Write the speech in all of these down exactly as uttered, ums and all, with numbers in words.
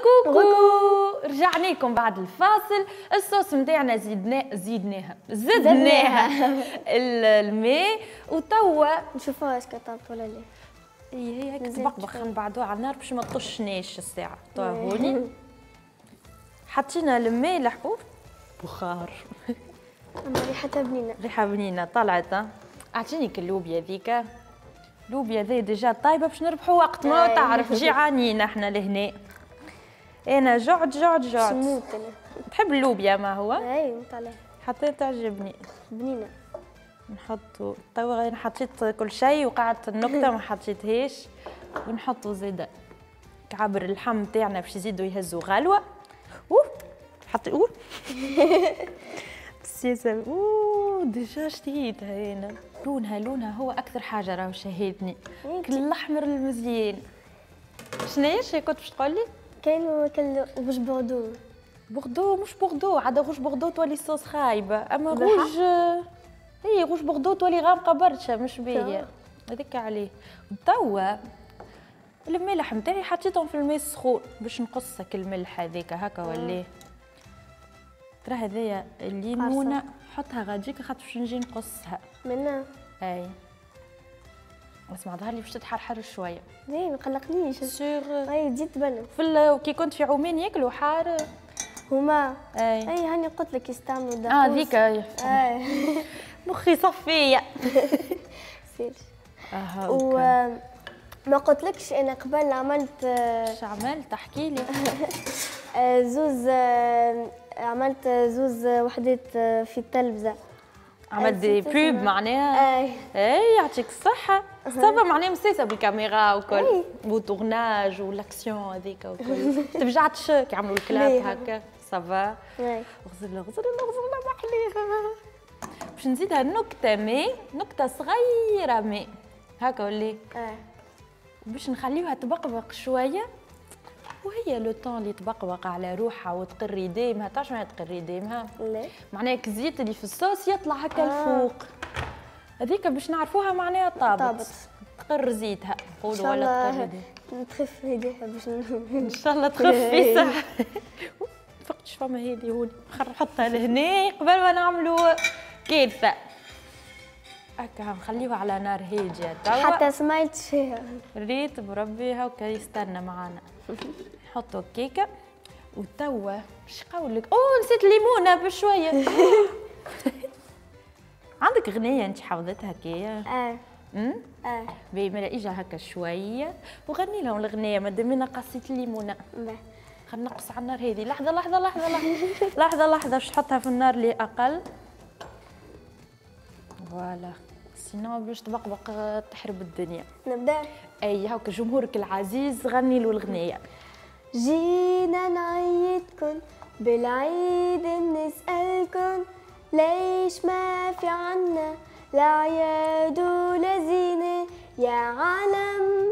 coucou، رجعنا لكم بعد الفاصل. الصوص نتاعنا زدنا زدناها زدناها الماء، وتوا نشوفوها est-ce que طابت ولا لا. اي هي هيك تبقبق، نبعدوها على النار باش ما تطشناش الساعة. توا هوني حطينا المالح، بخار. اما ريحتها بنينه. ريحه بنينه طلعت. اعطيني اللوبيا ذيك، اللوبيا ذي déjà طايبه باش نربحوا وقت، ما تعرف جيعانين احنا لهنا. انا جعت جعت جعت. نموت انا. تحب اللوبيا ما هو؟ اي نموت عليها. حتى تعجبني. بنينه. نحطوا توا، انا حطيت كل شيء وقعدت النكتة ما حطيتهاش. ونحطوا زيادة كعبر اللحم تاعنا باش يزيدوا يهزوا غلوه. اوه حطي اوه السياسة، اوه déjà شتيتها انا. لونها لونها هو اكثر حاجة راهو شهيتني، كل الاحمر المزيان. شنو هي كنت باش تقول لي؟ كاين كل rouge bordeaux. بوردو مش بوردو، عاد rouge bordeaux تولي صوص خايبة، اما روج اي rouge bordeaux تولي غامقه برشا مش باهيه، هذاك عليه. توا الملح نتاعي حطيتهم في الماء السخون باش نقصك الملح هذاك هكا ولا ترى. هذايا الليمونه حطها غاديك خاطر باش نجي نقصها منا. اي اسمع، ظهر لي باش تتحرحر شوية. ليه ما قلقنيش sûr. اي تزيد تبلل. في كي كنت في عمان ياكلوا حار هما. اي اي هاني قلت لك يستعملوا دقوس. اه ذيك اي مخي صفيه. سير. اها. و ما قلتلكش انا قبل عملت. اش عملت؟ احكي لي. زوز عملت زوز وحدات في التلفزة. عملت des pubs معناها؟ اي اي يعطيك الصحة. ça va معناها مسيسة بالكاميرا وكل و tournage و l'action هذيك وكل. تفجعتش كي عملوا ال clap هكا؟ ça va. غزل غزل غزل محليها. باش نزيدها نكتة ماء، نكتة صغيرة ماء هكا ولا؟ اه. باش نخليوها تبقبق شوية، وهي le temps اللي تبقبق على روحها وتقري ديمها. تعرف معناها تقري ديمها؟ لا. معناها الزيت اللي في الصوص يطلع هكا آه. الفوق هذيك باش نعرفوها معناها طابت. طابت. تقر زيتها نقولوا ولا تقر ديمها. تخف هذيها باش ان شاء الله تخف صح. فقتش فما هذه هوني، نحطها لهنا قبل ما نعملوا كارثة. هكا نخليوها على نار هادية توا. حتى سمعت فيها. ريت بربي هاكا يستنى معانا. نحطو كيكة وتوا باش نقول لك، اوه نسيت الليمونه بشوية. عندك غنية انت حافظتها هكايا؟ اه. امم اه. باهي مالا اجا هكا شوية وغني لهم الغنية مادام انا قصيت الليمونه. باهي. خلينا نقص على النار هذه، لحظة لحظة لحظة لحظة لحظة لحظة باش تحطها في النار اللي اقل. voilà sinon باش تبقبق تحرب الدنيا. نبدا؟ اي هاكا جمهورك العزيز غني له الغنية. جينا نعيدكن بالعيد نسألكن ليش ما في عنا لا عياد ولا زينة، يا عالم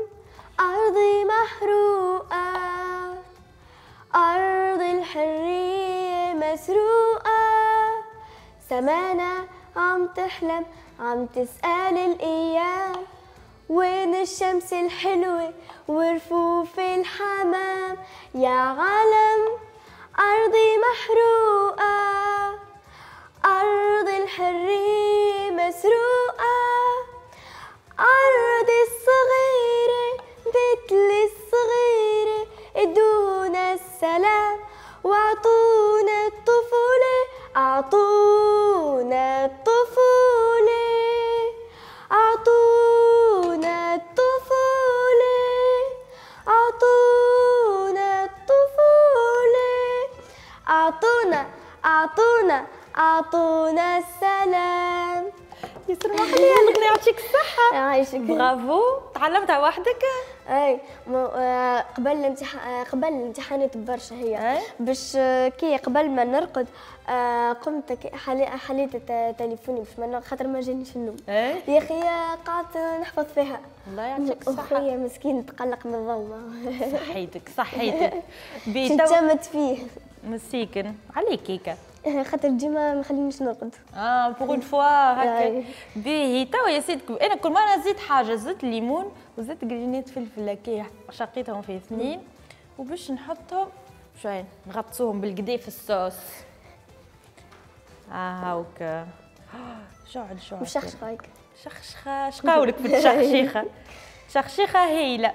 أرضي محروقة، أرض الحرية مسروقة، سمانا عم تحلم عم تسأل الأيام، وين الشمس الحلوة ورفوف الحمام، يا عالم أرضي محروقة، أرض الحرية مسروقة، أرضي الصغيرة مثل الصغيرة، ادونا السلام واعطونا الطفولة، أعطونا الطفولة، أعطونا الطفولة، أعطونا الطفولة، أعطونا أعطونا أعطونا السلام. ياسر محلية الأغنية، يعطيك الصحة. يعيشك. برافو، تعلمتها وحدك؟ اي قبل الامتحان، قبل الامتحانات برشا هي. باش كي قبل ما نرقد قمت حليت تليفوني باش ما خاطر ما جانيش النوم. يا اخي قعدت نحفظ فيها. الله يعطيك الصحة. خويا مسكين تقلق من الضوء. صحيتك صحيتك. تشمت فيه. مسيكن عليك كيكة. خاطر ديما ما خلينيش نرقد. اه pour une fois هكا. باهي توا يا سيدك انا كل مرة نزيد حاجة، زدت الليمون وزدت قرينات فلفل هكا شقيتهم في اثنين. وباش نحطهم شوية نغطسوهم بالقدا في الصوص. اه هاوك شعل شعل مشخشخه هيك شخشخه. شقاولك في التشخشيخه؟ شخشيخه هايلة.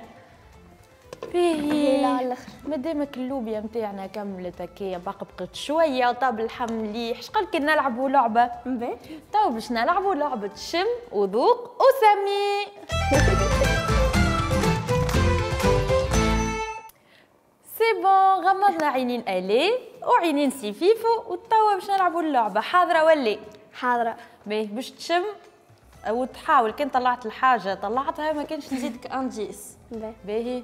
باهي على الاخر. مادامك اللوبيا نتاعنا كملت هكايا بقبقت شوية وطاب اللحم مليح، شقال كي نلعبوا لعبه؟ باهي تو باش نلعبوا لعبه شم وذوق وسمي. c'est bon، غمضنا عينين الي وعينين سيفيفو وتوا باش نلعبوا اللعبة. حاضره ولا؟ حاضره. باهي باش تشم وتحاول، كان طلعت الحاجة طلعتها، ما كانش نزيدك indice. باهي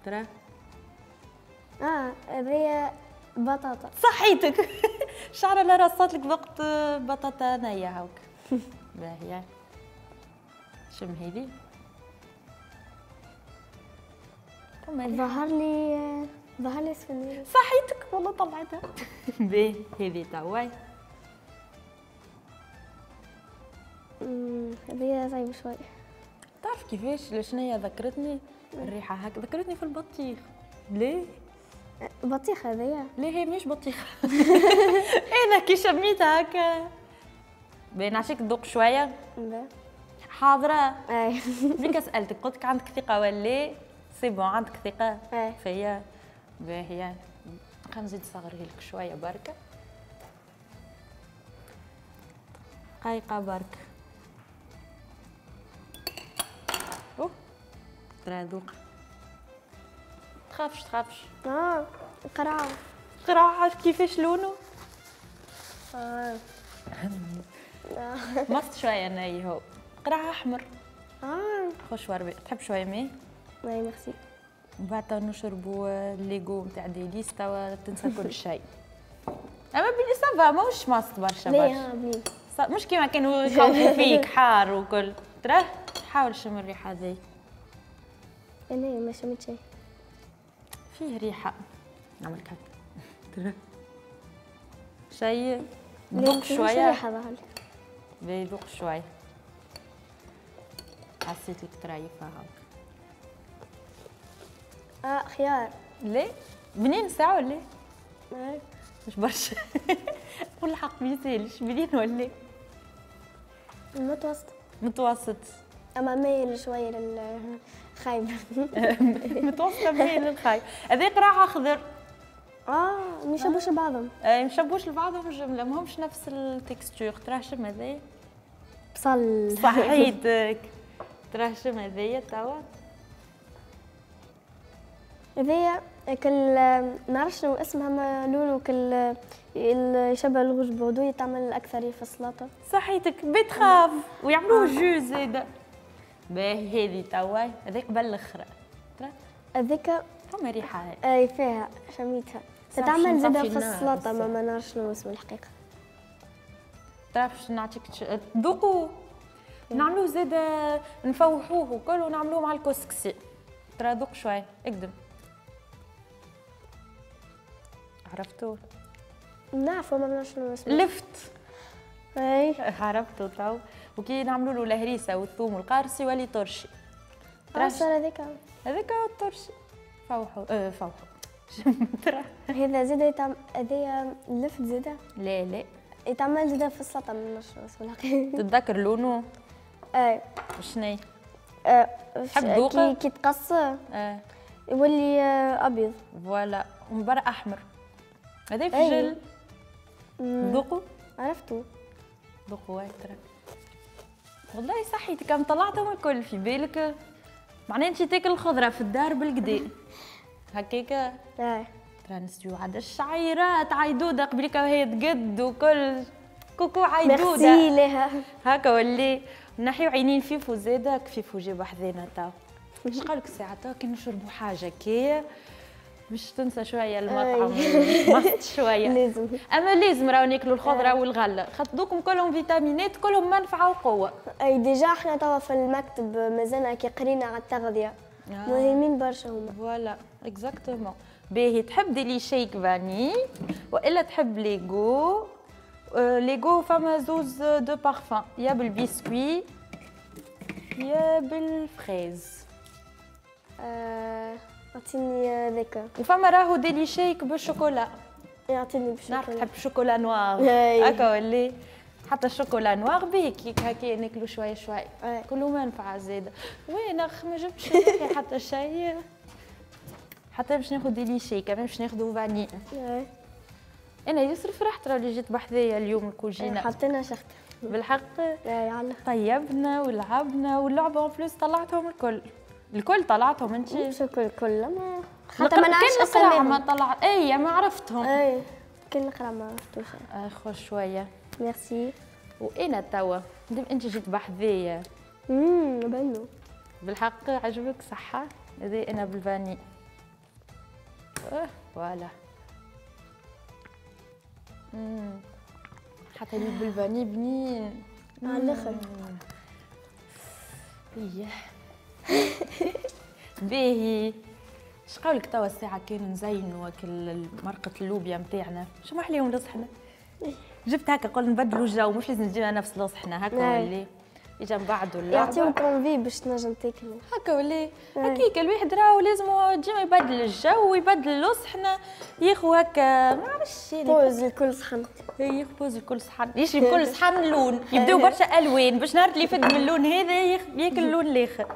ترى اه هذه بطاطا. صحيتك. شعره لا رصات لك وقت بطاطا نيه هاوك. باهي شم هذه. ظهر لي ظهر لي سفنجة. صحيتك والله طلعتها. باهي هذه توا هذه صعيبة شوي. تعرف كيفاش شنيا ذكرتني الريحة هكا؟ ذكرتني في البطيخ. ليه؟ بطيخ هذيا؟ ليه هي مش بطيخة. أنا كي شميتها هكا. باهي نعطيك تذوق شوية. حاضرة؟ أي. بيك سألتك قلت لك عندك ثقة ولا؟ c'est bon عندك ثقة فيا. باهية خلينا نزيد نصغرها لك شوية بركة. دقيقة برك. أوه ترى ذوق. تخافش تخافش. اه قرعة. قرعة كيفاش لونه؟ اه مصت شوية ناي هو. قرعة أحمر. اه خش وربي. تحب شوية ماء؟ oui merci. من بعد نشربوا les goûts نتاع Délice توا تنسى كل شيء. اما بلي ça va ماهوش ماست برشا برشا. مش كيما كانوا يخوفوا فيك حار وكل. تراه حاول شم الريحة ذي. انا ما شميت شيء. فيه ريحه. نعمل هكا. تراه شيء ذوق شوية. ريحه ظهر لي. ذوق شوية. حسيت لك ترايفها هاك. اه خيار. ليه؟ بنين ساعة ولا؟ ايه مش برشا. قول الحق ما يسالش، بنين ولا؟ متوسط. متوسط. اما مايل شوية للخايب. متوسط مايل للخايب. هذا قراع اخضر. اه ما يشبوش لبعضهم. اي ما يشبوش لبعضهم الجملة، ماهمش نفس ال texture. تراه شم هذايا؟ بصل. صحيتك. تراه شم هذايا توا؟ هذايا كل نعرفش شنو اسمها، ما لونه كل يشبه ال rouge bordeaux، يتعمل اكثر في السلطة. صحيتك betterave ويعملوه jus زاده. باهي هذه توا هذه قبل الاخرى. هذيك فما ريحه. اي فيها شميتها. تتعمل زاده في السلطة، ما ما نعرفش شنو اسمه الحقيقة. تعرف باش نعطيك تذوقوا نعملوه زاده نفوحوه وكل ونعملوه مع الكسكسي. ترى ذوق شوية اقدم. عرفتو؟ نعرفو ما نعرفش شنو اسمه. لفت. اي عرفتو تو. وكي نعملوا له الهريسه والثوم والقارص يولي طرشي. ترى هذاك هذاك هو الطرشي. فوحو اه فوحو. ترى هذا زاده يتعمل، هذايا اللفت زاده؟ لا لا يتعمل زاده في السلطة، ما نعرفش شنو اسمه الحقيقة. تتذكر لونه؟ اي شنو؟ اه تحب ذوقه؟ كي كي تقص اه يولي ابيض. voilà ومن برا احمر. هذا فجل. ذوقوا؟ عرفتو. ذوقوا ترى. والله صحيتك كم طلعتهم الكل في بالك. معناها انت تاكل الخضرة في الدار بالقدا. هكاكا؟ ايه. ترى نسيو عاد الشعيرات عيدوده قبليك وهي تقد وكل. coucou عيدوده. ميرسي لها. هكا ولي نحيو عينين فيفو زاده، فيفو جاب حذانا تو. اش قالك الساعة تو كي نشربوا حاجة كي باش تنسى شوية المطعم مست شوية. لازم. اما لازم راهو ناكلوا الخضرة والغلة، خاطر دوكم كلهم فيتامينات كلهم منفعه وقوه. اي déjà احنا توا في المكتب مازلنا كي قرينا على التغذية. آه. مهمين برشا هما. voilà exactement. باهي تحب Deli Shake vanille والا تحب les goûts؟ les goûts فما زوز deux parfums، يا بالبسكوي يا بال fraise. آه. اعطيني ذاك. وفما راهو ديلي شيك بالشوكولا. يعطيني بالشوكولا. نعرف تحب chocolat noir. هكا ولا حتى ال chocolat noir بيه كيك هكا ناكلو شوية شوية. كله منفعه زاده. وين اخ ما جبتش حتى شيء. حتى باش ناخذ ديلي شيك كمان باش ناخذ vanille. انا يسر فرحت راه اللي جيت بحذايا اليوم الكوجينه. حطينا شخت بالحق. اي طيبنا ولعبنا واللعبة en plus طلعتهم الكل. الكل طلعتهم انت؟ مش الكل الكل ما حتى ما نعرفش اساميهم. ما طلع اي ما عرفتهم. اي كل نقرا ما عرفتوش. اخو شوية. ميرسي. وانا توا مادام انت جيت بحذايا. امم بنو بالحق عجبك صحة؟ هذه انا بال vanille. اه voilà. امم حتى اللي بال vanille بنين على الاخر. ايه باهي. اش قولك توا الساعة كان نزينوا كل مرقة اللوبيا نتاعنا، شو ما حليهم لصحنا؟ جبت هكا قلنا نبدلوا الجو، مش لازم تجينا نفس لصحنا هكا ولا اجا نبعدوا اللعبة. يعطيوك envie باش تنجم تاكلوا. هكا ولا هكاك الواحد راهو لازم ديما يبدل الجو ويبدل لصحنا، ياخو هكا ما نعرفش pause لكل صحن. ياخو pause لكل صحن، يشري كل صحن لون، يبداو برشا الوان باش نهار اللي يفد من اللون هذا ياكل اللون الاخر.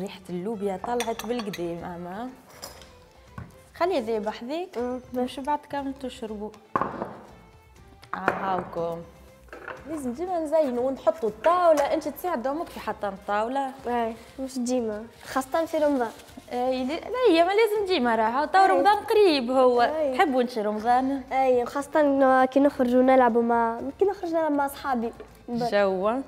ريحة اللوبيا طلعت بالقديم اما خلي ذي بحذيك باش بعد كامل تشربوا. هاوكم لازم ديما نزينوا ونحطوا الطاولة، انت تساعد امك في حطان الطاولة؟ اي مش ديما، خاصة في رمضان. اي لا هي ما لازم ديما راهو تو رمضان قريب هو. تحبوا انت رمضان؟ اي وخاصة كي نخرجوا نلعبوا مع كي نخرج نلعب مع اصحابي. جو.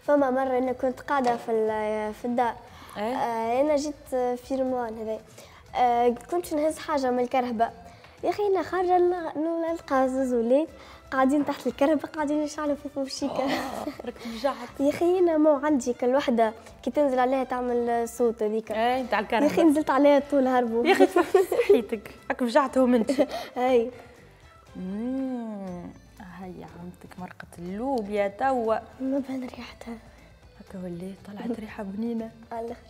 فما مرة أنا كنت قاعدة في في الدار. أيه؟ آه أنا جيت في رمضان هذا. آه كنت نهز حاجة من الكرهبة. يا أخي أنا خارجة نلقى زوز ولاد قاعدين تحت الكرهبة قاعدين يشعلوا في فوشيكا. راك تفجعت. يا أخي أنا مو عندي كل وحدة كي تنزل عليها تعمل صوت هذيك. اي تاع الكرهبة. يا أخي نزلت عليها طول هربوا. يا أخي صحيتك هاك فجعتهم أنت. أي. هيا عمتك مرقة اللوبيا توا. ما بان ريحتها. هكا ولي طلعت ريحة بنينة. على الآخر.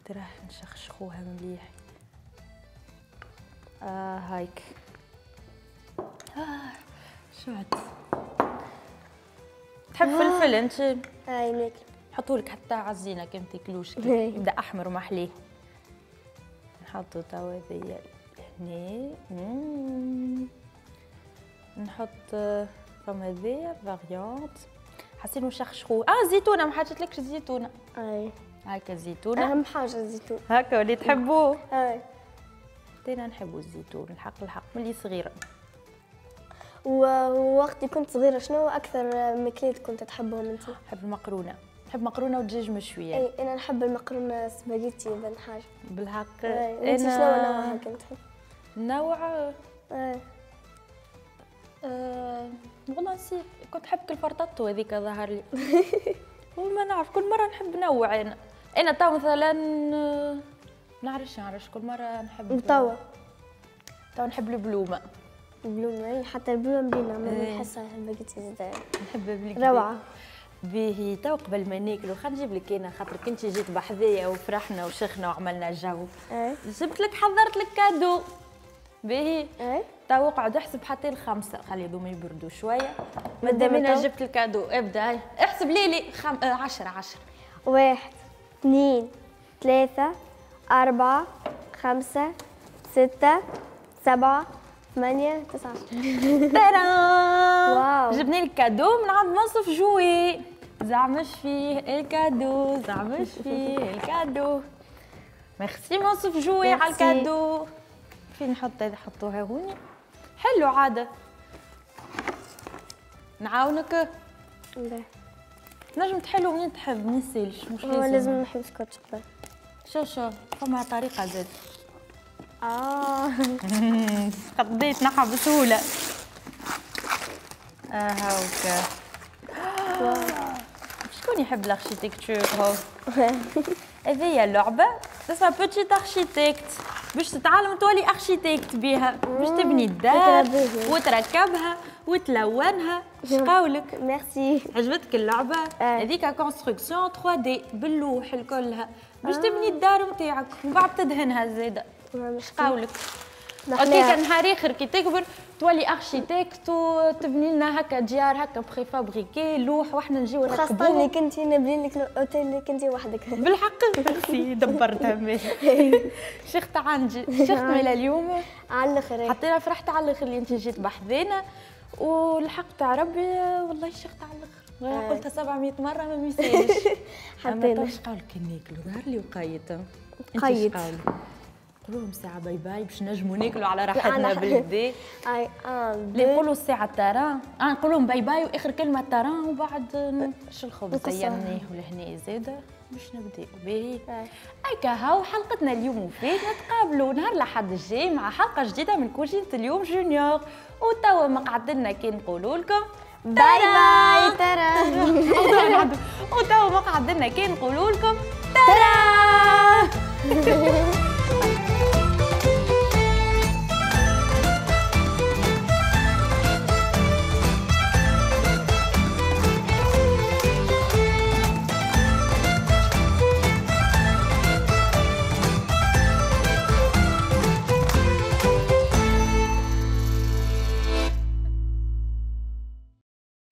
تراه نشخشخوها مليح. آه هايك. آه شعت. تحب آه. فلفل انت؟ اي ناكل. نحطولك حتى على الزينة كي ما تاكلوش يبدا أحمر ومحليه. نحطو توا هذيا هنا. نحط فما هذيا variante حاسين نشخشخو. اه زيتونه ما حاجتلكش زيتونه. اي هاكا زيتونه اهم حاجة الزيتون. هاكا ولي تحبوه. اي انا نحبوا الزيتون الحق الحق ملي صغيرة. ووقت كنت صغيرة شنو اكثر ماكلات كنت تحبهم انت؟ نحب المقرونه، نحب مقرونة ودجاج مشوية. اي انا نحب المقرونه سباجيتي بن حاجة. بالحق. انت شنو نوعها كنت تحب؟ نوع اي أه والله نسيت، كنت نحب الفرططو هذيك ظهر لي. وما نعرف كل مرة نحب نوع انا. انا تو مثلا نعرفش نعرفش كل مرة نحب. توا تو نحب البلومه. البلومه اي حتى البلومه بنينه ما نحسها الباكيتي زاد نحب بالكدا. روعه. باهي تو قبل ما ناكلو خلينا نجيب لك انا خاطر كنت جيت بحذايا وفرحنا وشخنا وعملنا جو. ايه جبت لك حضرت لك cadeau. باهي ايه تو اقعد احسب حتى الخمسة خلي هذوما يبردوا شوية. مادام انا جبت ال cadeau ابدا هاي احسب لي لي خم... عشرة عشرة. واحد اثنين ثلاثة أربعة خمسة ستة سبعة ثمانية تسعة عشرة. ترى جبنا لك cadeau من عند منصف جوي. زعمش فيه ال cadeau، زعمش فيه ال cadeau. merci منصف جوي على ال cadeau. فين نحط هذا؟ حطوها هوني. حلو عادة. نعاونك؟ لا. تنجم تحلو منين تحب، ما يسالش مش لازم. لازم نحل سكوتش قبل. شو شو فما طريقة زاد. اه قضيت نحى بسهولة. اه هاوكا. شكون يحب ال architecture هو؟ هذه اللعبة اسمها Petit Architecte باش تتعلم تولي architecte بها، باش تبني الدار وتركبها وتلونها. شقاولك؟ ميرسي. عجبتك اللعبة؟ هذيك construction ثري دي باللوح الكلها باش تبني الدار نتاعك ومن بعد تدهنها زاده. شقاولك؟ okay نهار اخر كي تكبر تولي architecte وتبني لنا هكا ديار هكا préfabriquées لوح واحنا نجيو نركبوهم. خاصة اللي كنتي نبني لك الاوتيل اللي كنتي وحدك. بالحق ميرسي دبرتها ماشي. شيخت عندي شيخت مالا اليوم على الاخر. حتى فرحت على الاخر اللي انت جيت بحذانا والحق تاع ربي والله شيخت على الاخر. قلتها سبعمية مرة ما ميسالش. حتى انا قالك ناكلوا ظهر لي وقيت. قيت نقولوا لهم ساعة باي باي باش نجموا ناكلوا على راحتنا بالكدا. اي اه اللي نقولوا الساعة ترى اه نقولوا لهم باي باي واخر كلمة ترى وبعد شو الخبز زيناه ولهنا زاده باش نبداو باهي. هكا هاو حلقتنا اليوم وفات، نتقابلوا نهار الأحد الجاي مع حلقة جديدة من كوجينة اليوم junior. وتوا ما قعدنا كي نقولوا لكم باي باي ترى. وتوا ما قعدنا كي نقولوا لكم ترى.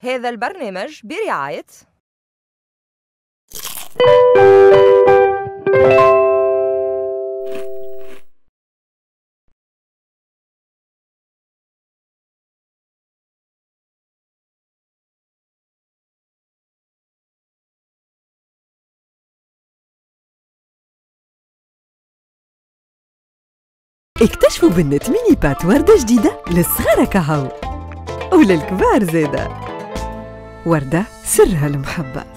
هذا البرنامج برعاية اكتشفوا بنت ميني بات وردة جديدة للصغار كهو وللكبار زادة. وردة سرها المحبة.